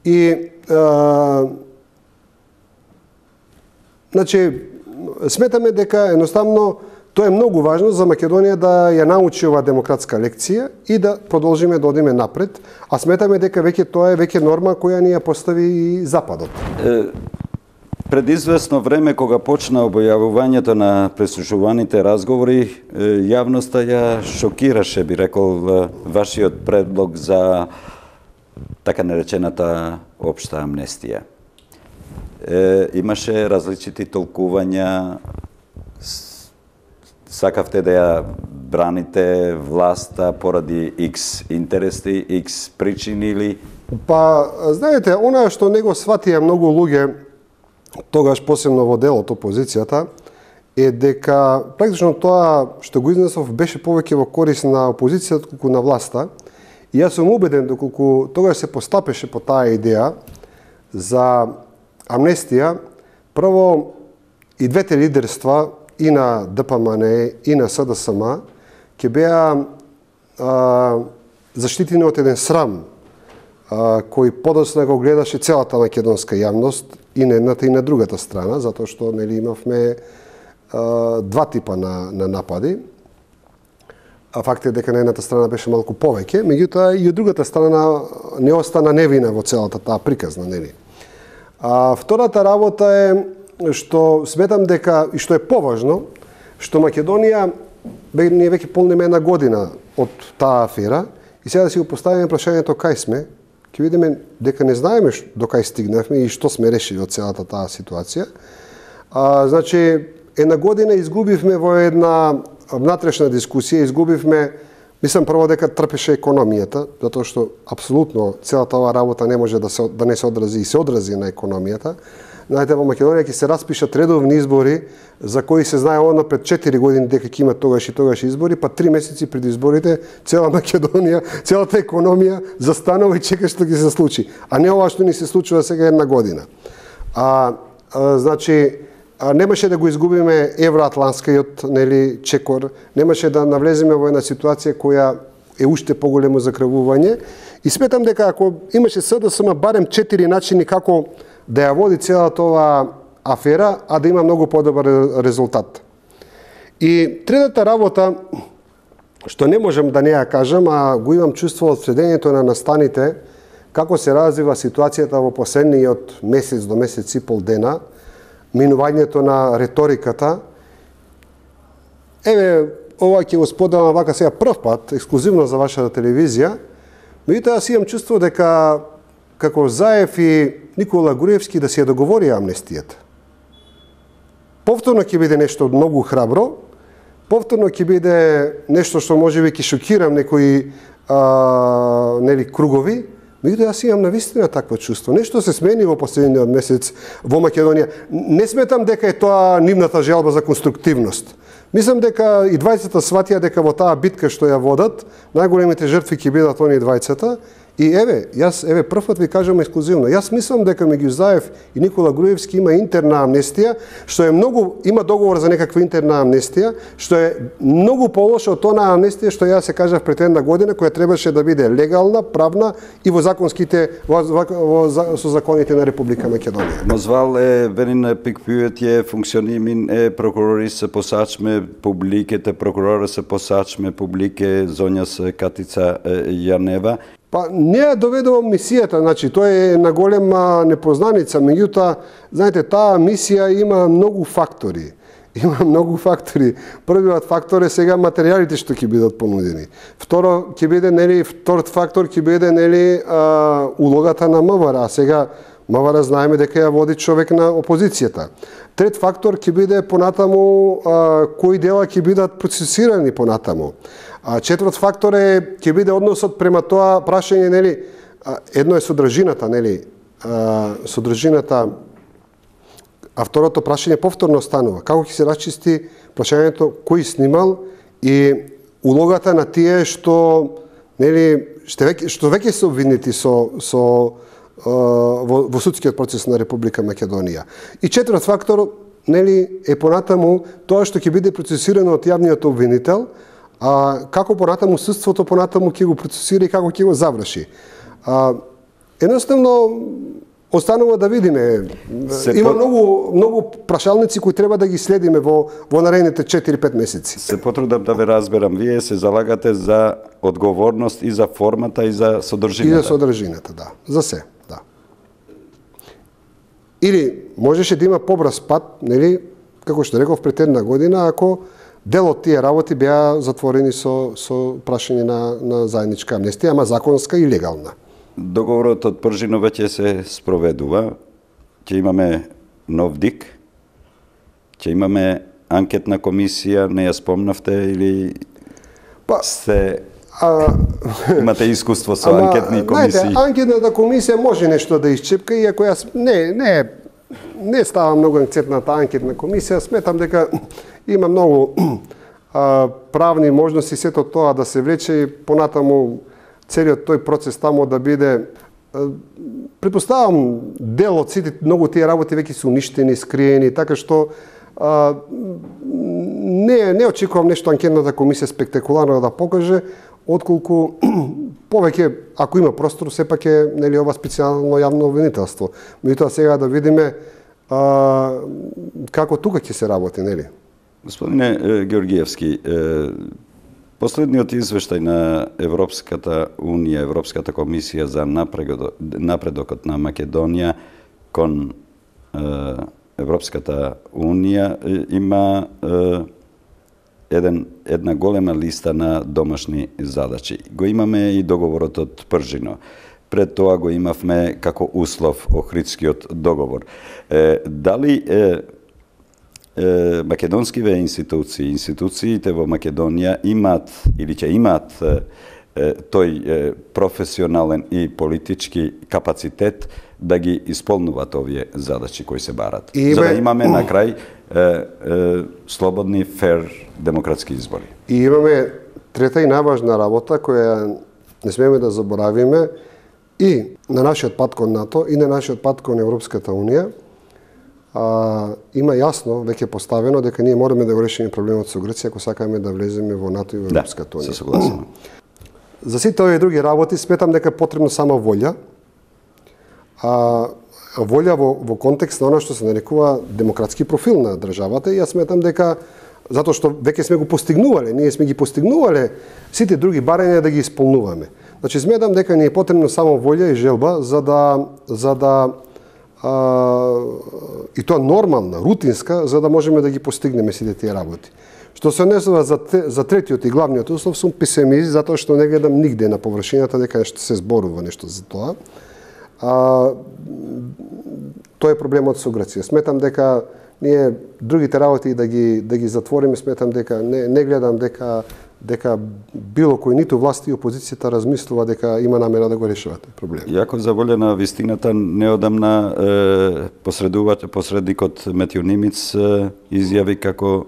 И а, значи сметаме дека едноставно Тоа е многу важно за Македонија да ја научи оваа демократска лекција и да продолжиме да одиме напред, а сметаме дека веќе тоа е веќе норма која ни ја постави и Западот. Е, пред известно време, кога почна објавувањето на преслушуваните разговори, јавноста ја шокираше, би рекол, вашиот предлог за така наречената општа амнестија. Е, имаше различити толкувања, сакавте да ја браните власта поради X интереси, X причини или? Па, знаете, она што не го сватија многу луѓе, тогаш посебно во делот опозицијата, е дека практично тоа што го изнесов беше повеќе во корис на опозицијата колку на власта. И јас сум убеден доколку тогаш се постапеше по таа идеја за амнестија, прво и двете лидерства, и на Д П М Н и на С Д С М, ќе беа а, заштитени од еден срам, а, кој подоцна го гледаше целата македонска јавност, и на едната и на другата страна, затоа што нели имавме а, два типа на, на напади. А факт е дека на едната страна беше малку повеќе, меѓутоа и од другата страна не остана невина во целата таа приказна, нели. А втората работа е што сметам дека, и што е поважно, што Македонија, ние веќе полниме една година од таа афера, и сега да си го поставиме прашањето кај сме, ќе видиме дека не знаеме до кај стигнавме и што сме решили од целата таа ситуација. А, значи, една година изгубивме во една внатрешна дискусија, изгубивме, мислам прво дека трпеше економијата, затоа што апсолутно целата оваа работа не може да, се, да не се одрази и се одрази на економијата. Знаете, во Македонија ќе се распишат редовни избори за кои се знае одно пред четири години дека ќе има тогаш и тогаш избори, па три месеци пред изборите цела Македонија, целата економија застанува и чека што ќе се случи. А не ова што ни се случува сега една година. А, а значи, а, немаше да го изгубиме евроатланскиот, нели, чекор, немаше да навлеземе во една ситуација која е уште поголемо закрвување. И сметам дека ако имаше С Д С М барем четири начини како да ја води целата оваа афера, а да има многу подобар резултат. И третата работа, што не можам да не ја кажам, а го имам чувство од следењето на настаните, како се развива ситуацијата во последниот месец до месец и пол дена, минувањето на реториката. Еве, ова ќе го споделам вака сега прв пат, ексклузивно за вашата телевизија, меѓутоа јас имам чувство дека како Заев и Никола Груевски да се ја договори амнестијата. Повторно ќе биде нешто многу храбро, повторно ќе биде нешто што можеби ќе шокирам некои а, нели кругови, меѓутоа јас имам навистина такво чувство. Нешто се смени во последниот месец во Македонија. Не сметам дека е тоа нивната желба за конструктивност. Мислам дека и двајцата сватија дека во таа битка што ја водат, најголемите жртви ќе бидат оние двајцата. И еве, јас еве првпат ви кажам ексклузивно. Јас мислам дека меѓу Заев и Никола Груевски има интерна амнестија, што е многу, има договор за некаква интерна амнестија, што е многу полоша од онаа амнестија што јас се кажав пред една година, која требаше да биде легална, правна и во законските во, во, во со законите на Република Македонија. Мозвал е верин пикпюет е функционимин е прокурори се посачме публиките, прокурора се посачме публике зонјас Катица Јанева. Па не ја доведувам мисијата, значи тоа е на голема непознаница, меѓутоа, знаете, таа мисија има многу фактори. Има многу фактори. Првиот фактор е сега материјалите што ќе бидат понудени. Второ ќе биде нели вториот фактор ќе биде нели а, улогата на М В Р, а сега М В Р знаеме дека ја води човек на опозицијата. Трет фактор ќе биде понатаму а, кои дела ќе бидат процесирани понатаму. А четврт фактор е ќе биде односот према тоа прашање, нели, едно е содржината, нели, содржината, а второто прашање повторно станува. Како ќе се расчисти прашањето кој снимал и улогата на тие што, нели, што веќе, што веќе се обвинети со со во, во судскиот процес на Република Македонија. И четврт фактор, нели, е понатаму тоа што ќе биде процесирано од јавниот обвинител, а како понатаму судството понатаму ќе го процесира и како ќе го заврши. А, едноставно, Останува да видиме. Се Има по... многу многу прашалници кои треба да ги следиме во во наредните четири-пет месеци. Се потрудам да ве разберам. Вие се залагате за одговорност и за формата и за содржината. И за содржината, да. За се, да. Или можеше да има побрз пат, нели, како што реков пред една година, ако дел од тие работи беа затворени со со прашање на на заедничка амнестија, ама законска и легална. Договорот од Пржино веќе се спроведува. Ќе имаме нов ДИК. Ќе имаме анкетна комисија, не ја спомнавте или Па, сте а, имате искуство со ама, анкетни комисии? Знаете, анкетната комисија може нешто да исчепка, иако јас не не не ставам многу анкетната анкетна комисија, сметам дека има многу а, правни можности сето тоа да се влече и понатаму целиот тој процес таму да биде, претпоставам, дел од сите многу тие работи веќе се уништени, скриени, така што а, не не очекувам нешто анкетната комисија спектакуларно да покаже, отколку повеќе, ако има простор, сепак е, нели, ова специјално јавно обвинителство. Меѓутоа сега да видиме а, како тука ќе се работи, нели? Господине Георгиевски, последниот извештај на Европската Унија, Европската комисија за напредокот на Македонија кон Европската Унија има еден, една голема листа на домашни задачи. Го имаме и договорот од Пржино. Пред тоа го имавме како услов Охридскиот договор. Е, дали е, е, македонскиве институции, институциите во Македонија имаат или ќе имаат е, е, тој е, професионален и политички капацитет да ги исполнуваат овие задачи кои се барат. И за да бе... имаме на крај е, е, слободни, фер, демократски избори. И имаме трета и најважна работа која не смееме да заборавиме и на нашиот пат кон НАТО и на нашиот пат кон Европската Унија. А, има јасно веќе поставено дека ние мораме да го решиме проблемот со Грција ако сакаме да влеземе во НАТО и во Европската Унија. Да, се согласувам. За сите овие други работи сметам дека е потребно само волја. А, волја во, во контекст на она што се нарекува демократски профил на државата и јас сметам дека затоа што веќе сме го постигнувале, ние сме ги постигнувале сите други барања да ги исполнуваме. Значи сметам дека ни е потребно само волја и желба за да за да а, и тоа нормална, рутинска, за да можеме да ги постигнеме сите тие работи. Што се однесува за, за третиот и главниот услов, сум песимист затоа што не гледам нигде на површината дека нешто се зборува нешто за тоа. А, тоа е проблемот со Грција. Сметам дека ние другите работи да ги да ги затвориме, сметам дека не не гледам дека дека било кој ниту власти и опозицијата размислува дека има намера да го решават проблем. Јако за волја на вистината неодамна е, посредуват посредникот Метјо Нимиц е, изјави како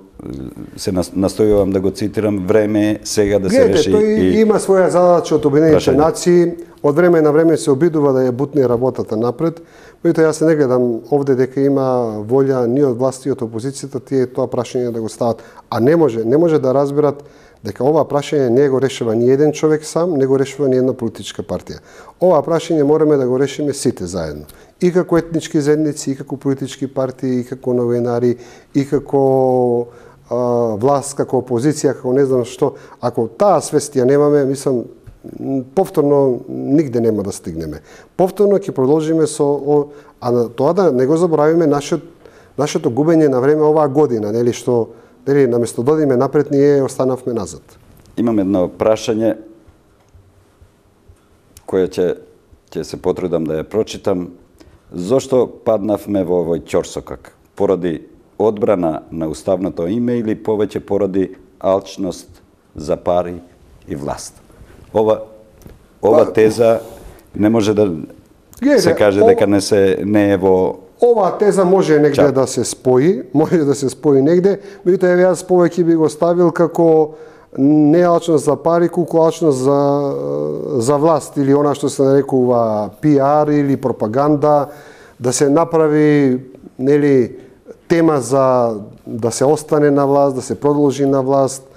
се настојувам да го цитирам, време е сега да Гледате, се реши. Тој и... има своја задача од Обединетите Прашање. нации, од време на време се обидува да ја бутне работата напред, меѓутоа јас не гледам овде дека има волја ни од власти и од опозицијата тие тоа прашање да го стават, а не може, не може да разберат дека ова прашање не го решава ни еден човек сам, не го решава ни една политичка партија. Ова прашање мораме да го решиме сите заедно. И како етнички заедници, и како политички партии, и како новинари, и како а, власт, како опозиција, како не знам што. Ако таа свест ја немаме, мислам, повторно нигде нема да стигнеме. Повторно ќе продолжиме со о, а на тоа да не го заборавиме нашето нашето губење на време оваа година, нели што нели наместо да одиме напред ние останавме назад. Имам едно прашање кое ќе ќе се потрудам да ја прочитам. Зошто паднавме во овој ќорсокак? Поради одбрана на уставното име или повеќе поради алчност за пари и власт? Ова ова теза не може да Гледа, се каже ова, дека не се не е во Оваа теза може негде Ча. да се спои, може да се спои негде, меѓутоа јас повеќе би го ставил како не алчност за пари, колку алчност за за власт или она што се нарекува пиар или пропаганда, да се направи нели тема за да се остане на власт, да се продолжи на власт,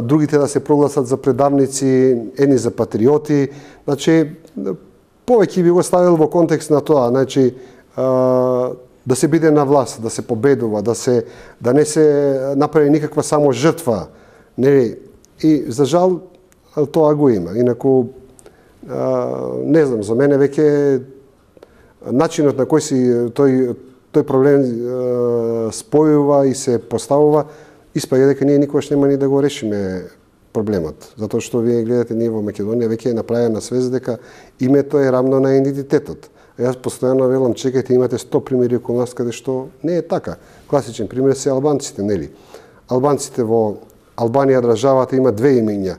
другите да се прогласат за предавници, едни за патриоти. Значи повеќе би го ставил во контекст на тоа, значи да се биде на власт, да се победува, да се да не се направи никаква само жртва, нели? И за жал тоа го има. Инаку не знам, за мене веќе начинот на кој си тој тој проблем спојува и се поставува, испаѓа дека ние никогаш нема ни да го решиме проблемот. Затоа што вие гледате, ние во Македонија веќе е направена свест дека името е рамно на идентитетот. Јас постојано велам, чекајте, имате сто примери околу нас каде што не е така. Класичен пример се албанците, нели? Албанците во Албанија државата има две имиња.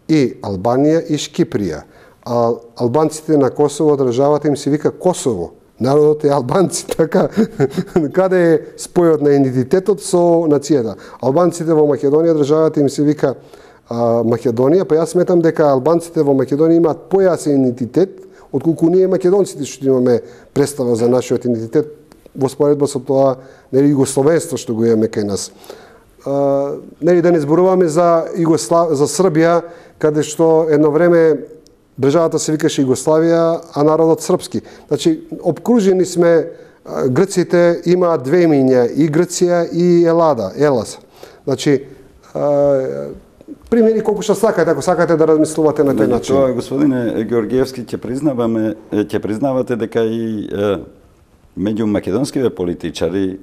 И Албанија и Шкиприја. А албанците на Косово државата им се вика Косово. Народот е албанци, така. Каде е спојот на идентитетот со нацијата? Албанците во Македонија државата им се вика а, Македонија, па јас сметам дека албанците во Македонија имаат појасен идентитет отколку ние македонците што имаме представа за нашиот идентитет во споредба со тоа, нели, југословенство што го имаме кај нас. А, нели, да не зборуваме за Југослав... за Србија, каде што едно време државата се викаше Југославија, а народот српски. Значи, обкружени сме, грците имаат две имиња, и Грција и Елада, Елас. Значи, а, примери колку што сакате, ако сакате да размислувате на тој начин. Тоа, господине Георгиевски, ќе признаваме, ќе признавате дека и е, меѓу македонските политичари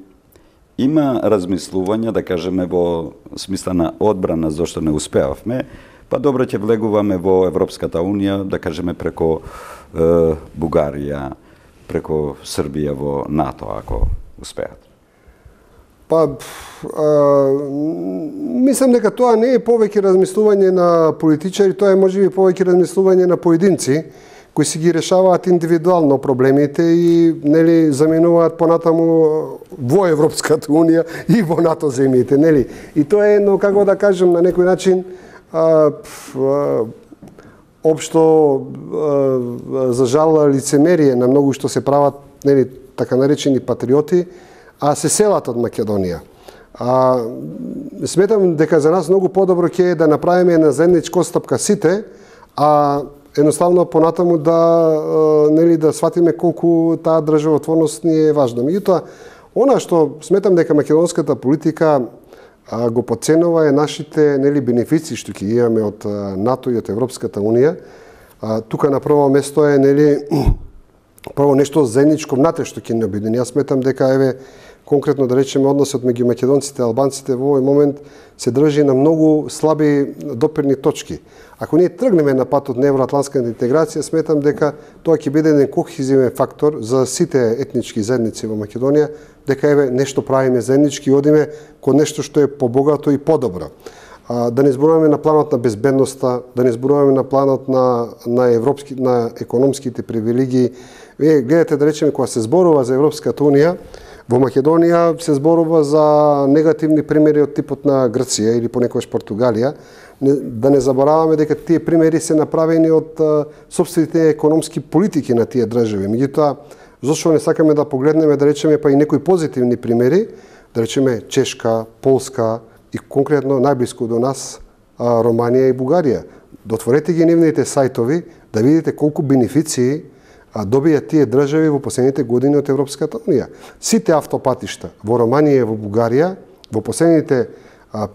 има размислувања, да кажеме, во смисла на одбрана зашто не успеавме, па добро ќе влегуваме во Европската унија, да кажеме преко е, Бугарија, преко Србија во НАТО, ако успеат. Па, а, мислам дека тоа не е повеќе размислување на политичари, тоа е можеби повеќе размислување на поединци кои си ги решаваат индивидуално проблемите и, нели, заменуваат понатаму во Европската унија и во НАТО земјите, нели? И тоа е едно, како да кажем, на некој начин а, а, општо а, за жал лицемерие на многу што се прават, нели, така наречени патриоти, а се селат од Македонија. А, сметам дека за нас многу подобро ќе е да направиме една заедничка отстапка сите, а едноставно понатаму да, нели, да сватиме колку таа државотворност ни е важна. Меѓутоа, она што сметам дека македонската политика а, го подценува е нашите, нели, бенефиции што ќе имаме од НАТО и од Европската унија. А, тука на прво место е, нели, прво нешто заедничко внатрешно ќе ни обедини. Јас сметам дека, еве, конкретно да речеме, односот меѓу македонците и албанците во овој момент се држи на многу слаби допирни точки. Ако ние тргнеме на патот на евроатлантската интеграција, сметам дека тоа ќе биде еден кохезивен фактор за сите етнички заедници во Македонија, дека, еве, нешто правиме заеднички и одиме кон нешто што е побогато и подобро. А, да не зборуваме на планот на безбедноста, да не зборуваме на планот на, на, европски, на економските привилегии. Вие гледате, да речеме, кога се зборува за Европската унија, во Македонија се зборува за негативни примери од типот на Грција или понекогаш Португалија. Да не забораваме дека тие примери се направени од собствените економски политики на тие држави. Меѓутоа, зошто не сакаме да погледнеме, да речеме, па и некои позитивни примери, да речеме Чешка, Полска и конкретно најблиску до нас Романија и Бугарија. Дотворете ги нивните сајтови да видите колку бенефиции добија тие држави во последните години од Европската унија. Сите автопатишта во Романија и во Бугарија во последните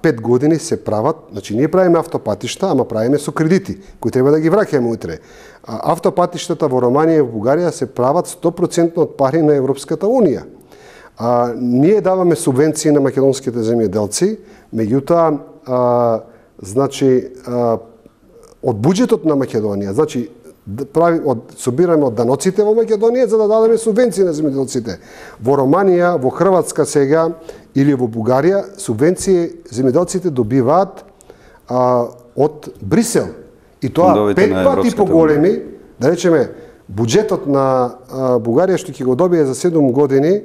пет години се прават, значи ние правиме автопатишта, ама правиме со кредити, кои треба да ги враќаме утре. Автопатиштата во Романија и во Бугарија се прават сто проценти од пари на Европската унија. А, ние даваме субвенции на македонските земјоделци, меѓутоа, а, значи, а, од буџетот на Македонија, значи, прави, од, собираме од даноците во Македонија за да дадеме субвенции на земјоделците. Во Романија, во Хрватска сега или во Бугарија, субвенции земјоделците добиваат а, од Брисел. И тоа пет пати поголеми, да речеме, буџетот на а, Бугарија што ќе го добие за седум години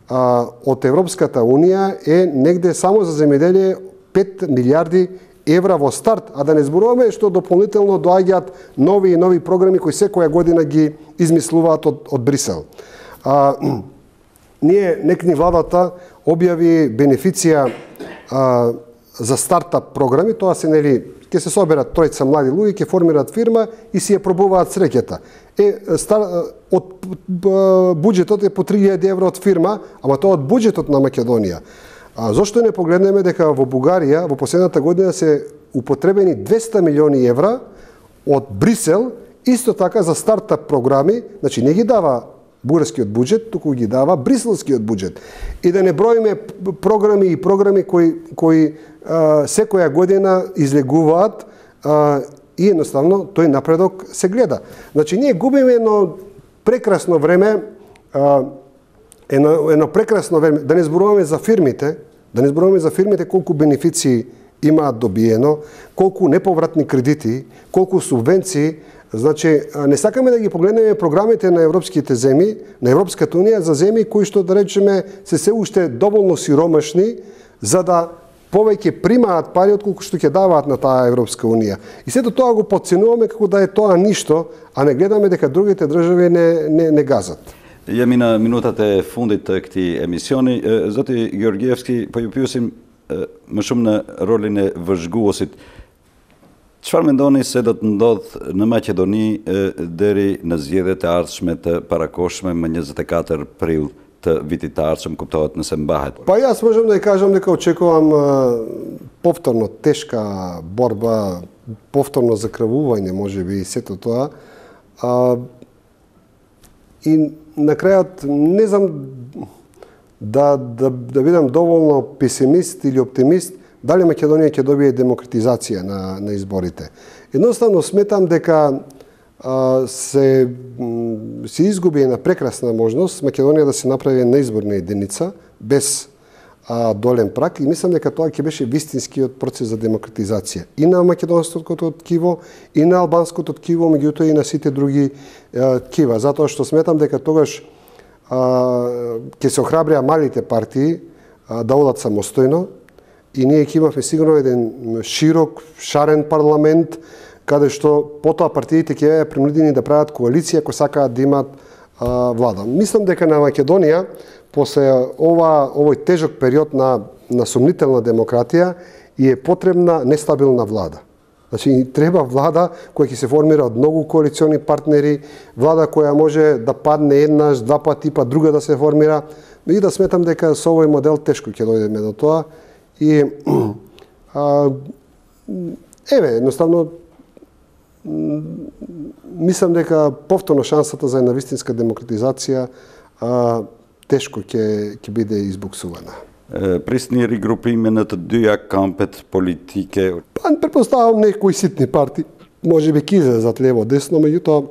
а, од Европската унија е негде само за земјоделие пет милиарди евра во старт, а да не зборуваме што дополнително доаѓаат нови и нови програми кои секоја година ги измислуваат од, од Брисел. А, ние, некни владата објави бенефиција а, за стартап програми, тоа се нели ќе се соберат тројца млади луѓе, ќе формираат фирма и си ја пробуваат среќата. Е стар, од буџетот е по три илјади евро од фирма, ама тоа од буџетот на Македонија. А зошто не погледнеме дека во Бугарија во последната година се употребени двеста милиони евра од Брисел, исто така за стартап програми, значи не ги дава бугарскиот буџет, туку ги дава бриселскиот буџет. И да не броиме програми и програми кои кои а, секоја година излегуваат а, и едноставно тој напредок се гледа. Значи ние губиме едно прекрасно време, а, едно, едно прекрасно време, да не зборуваме за фирмите, да не зборуваме за фирмите колку бенефиции имаат добиено, колку неповратни кредити, колку субвенции. Значи, не сакаме да ги погледнеме програмите на европските земји, на Европската унија за земји кои што, да речеме, се се уште доволно сиромашни за да повеќе примаат пари отколку што ќе даваат на таа Европска унија. И сето тоа го подценуваме како да е тоа ништо, а не гледаме дека другите држави не, не, не газат. Ја мина минутата е фундит кти емисиони. Зати Георгиевски, па ја пиусим më shumë në rolin e vëzhguesit. Çfarë mendoni se do të ndodh në Maqedoni deri në zgjedhjet e ardhshme të parakohshme më njëzet e katër prill të vitit të ardhshëm, kuptohet nëse mbahet? Па јас можам да ја кажам дека очекувам повторно тешка борба, повторно закрвување, можеби и сето тоа. А, и на крајот не знам да, да, да бидам доволно песимист или оптимист, дали Македонија ќе добие демократизација на, на изборите. Едноставно сметам дека а, се, се изгуби една прекрасна можност Македонија да се направи една изборна единица без а, долен прак и мислам дека тоа ќе беше вистинскиот процес за демократизација и на македонското ткиво, и на албанското ткиво, меѓутоа и на сите други а, ткива, затоа што сметам дека тогаш ќе се охрабрија малите партии а, да одат самостојно и ние ќе имавме сигурно еден широк, шарен парламент, каде што потоа партиите ќе беа принудени да прават коалиција ако сакаат да имат а, влада. Мислам дека на Македонија, после ова, овој тежок период на, на сумнителна демократија, и е потребна нестабилна влада. Значи, треба влада која ќе се формира од многу коалициони партнери, влада која може да падне еднаш, два пати, па друга да се формира. И да сметам дека со овој модел тешко ќе дојдеме до тоа. И, а, еве, едноставно, мислам дека повторно шансата за една вистинска демократизација а, тешко ќе ќе биде избуксувана. Prisni rigrupimin të dyja kampet politike. Па, предпоставам некои ситни парти, може би ќе излезат лево десно, меѓутоа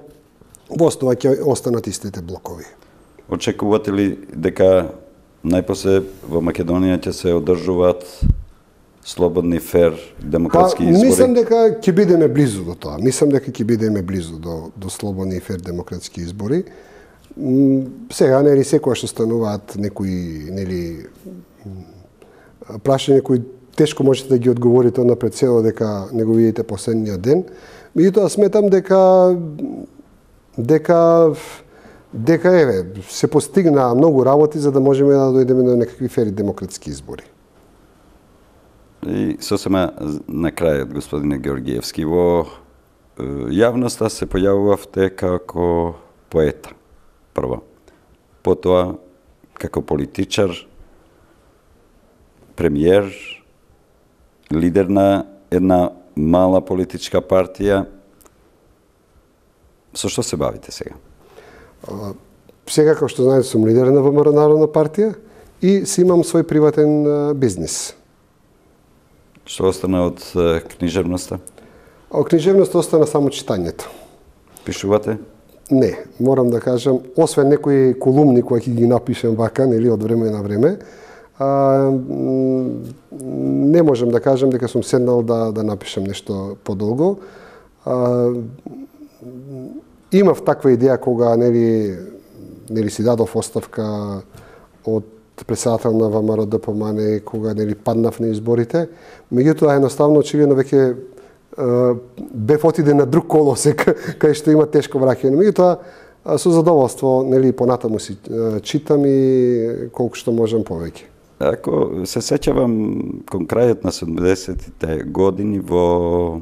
во основа ќе останат истите блокови. Очекувате ли дека најпосле во Македонија ќе се одржуваат слободни, фер, демократски па, избори? Мислам дека ќе бидеме близу до тоа. Мислам дека ќе бидеме близу до, до слободни и фер демократски избори. Сега, нели, секоја што стануваат некои, нели, прашања кои тешко можете да ги одговорите однапред цело дека не го видите последниот ден. Меѓутоа сметам дека дека дека еве се постигна многу работи за да можеме да дојдеме до некакви фери демократски избори. И сосема на крајот, господине Георгиевски, во јавноста се појавувавте како поета, прво. Потоа како политичар, премиер, лидер на една мала политичка партија. Со што се бавите сега? Сега, како што знаете, сум лидер на ВМРО Народна партија и си имам свој приватен бизнис. Што остана од книжевноста? Од книжевноста остана само читањето. Пишувате? Не, морам да кажам, освен некои колумни кои ќе ги напишем вака, нели, од време на време, а, не можам да кажам дека сум седнал да, да напишам нешто подолго. А, имав таква идеја кога, нели, нели си дадов оставка од председател на ВМРО ДПМН, кога, нели, паднав на изборите. Меѓутоа, едноставно, очигледно веќе бев отиде на друг колосек, кај што има тешко враќање. Меѓутоа, со задоволство, нели, понатаму си читам и колку што можам повеќе. Ако се сеќавам кон крајот на седумдесетите години во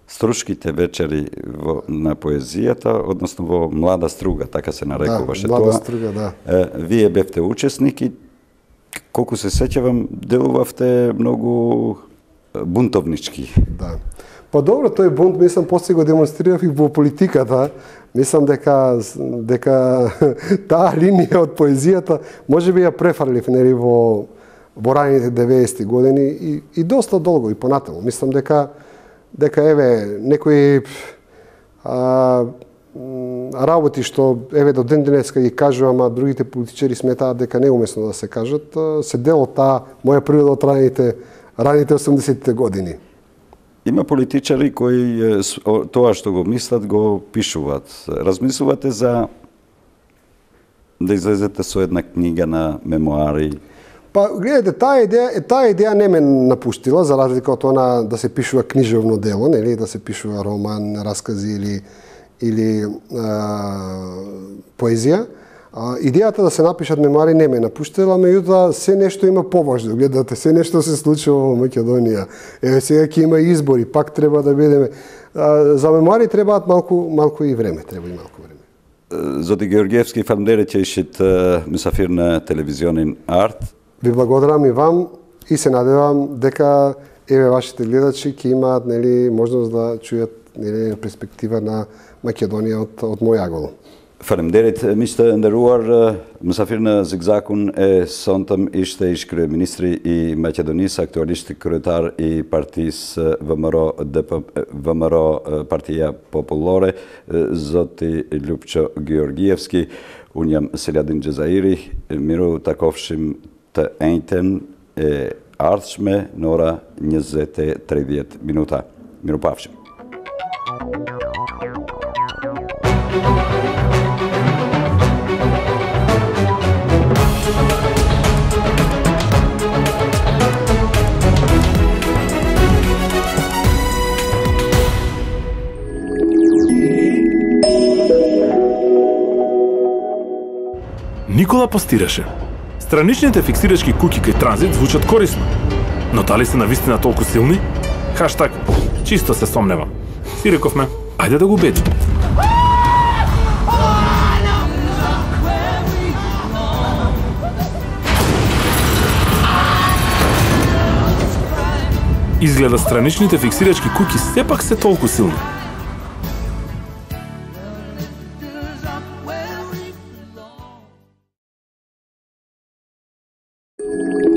струшките вечери во, на поезијата, односно во Млада струга, така се нарекуваше да, тоа. Млада струга, да. Вие бевте учесник и колку се сеќавам, делувавте многу бунтовнички. Да. Па добро, тој бунт, мислам, после го демонстрирав и во политиката. Мислам дека дека таа линија од поезијата можеби ја префрлив нели во во раните деветдесети години и, и доста долго и понатаму. Мислам дека дека еве некои а, работи што еве до ден денеска ги кажувам, а другите политичари сметаат дека не е умесно да се кажат, се дел од таа моја природа од раните раните осумдесетите години. Има политичари кои тоа што го мислат го пишуваат. Размислувате за да излезете со една книга на мемуари? Па, гледате, таа идеја, таа идеја не ме напуштила, за разлика од она да се пишува книжевно дело, нели, да се пишува роман, раскази или или а, поезија. А, идејата да се напишат мемуари не ме напуштила, меѓутоа се нешто има поважно. Гледате, се нешто се случува во Македонија. Еве сега ќе има избори, пак треба да бидеме. А, за мемуари требаат малку малку и време, треба и малку време. Zotë Георгиевски, фалемнделет që ishit mysafir në телевизионин Арт. Ви благодарам и вам и се надевам дека еве вашите гледачи ќе имаат нели можност да чујат нели перспектива на Македонија од од мој агол. Faleminderit, miq të nderuar, mysafir në Zigzakun e sontëm ishte ish kryeministri i Maqedonisë, aktualisht kryetar i partisë V M R O D P V M R O Partia Popullore, zoti Lupço Georgievski. Unë jam Seladin Xhezairi, miru takofshim të njëjtën e ardhshme në ora njëzet e tridhjetë minuta. Mirupafshim. Никола постираше. Страничните фиксирачки куќи кај транзит звучат корисно. Но дали се навистина толку силни? Хаштаг, чисто се сомневам. Си рековме, ајде да го убедим. Изгледа страничните фиксирачки куќи сепак се толку силни. Thank you.